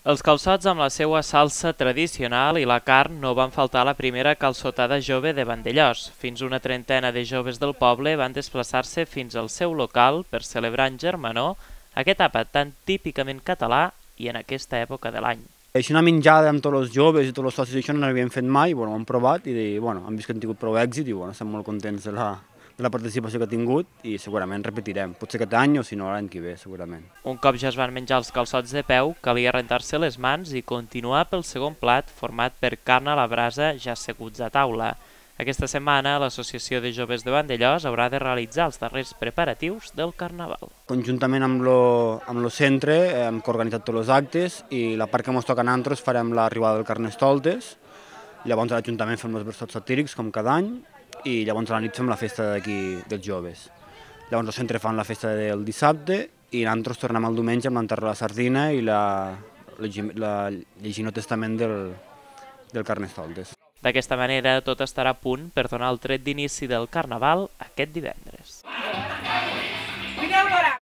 Els calçots amb la seva salsa tradicional i la carn no van faltar a la primera calçotada jove de Vandellòs. Fins una trentena de joves del poble van desplaçar-se fins al seu local per celebrar en germanor aquest àpat tan típicament català i en aquesta època de l'any. Així una menjada amb tots els joves i tots els socis això no n'havíem fet mai, ho hem provat i hem vist que han tingut prou èxit i estem molt contents de la participació que ha tingut i segurament repetirem, potser aquest any o si no l'any que ve, segurament. Un cop ja es van menjar els calçots de peu, calia rentar-se les mans i continuar pel segon plat format per carn a la brasa ja asseguts a taula. Aquesta setmana l'Associació de Joves de Vandellòs haurà de realitzar els darrers preparatius del Carnaval. Conjuntament amb el centre hem organitzat tots els actes i la part que ens toca a nosaltres farem l'arribada del Carnestoltes, llavors a l'Ajuntament fem els versots satírics com cada any i llavors a la nit fem la festa d'aquí dels joves. Llavors el centre fan la festa del dissabte i nosaltres tornem el diumenge amb l'enterro de la sardina i llegint el testament del Carnestoltes. D'aquesta manera tot estarà a punt per donar el tret d'inici del Carnaval aquest divendres.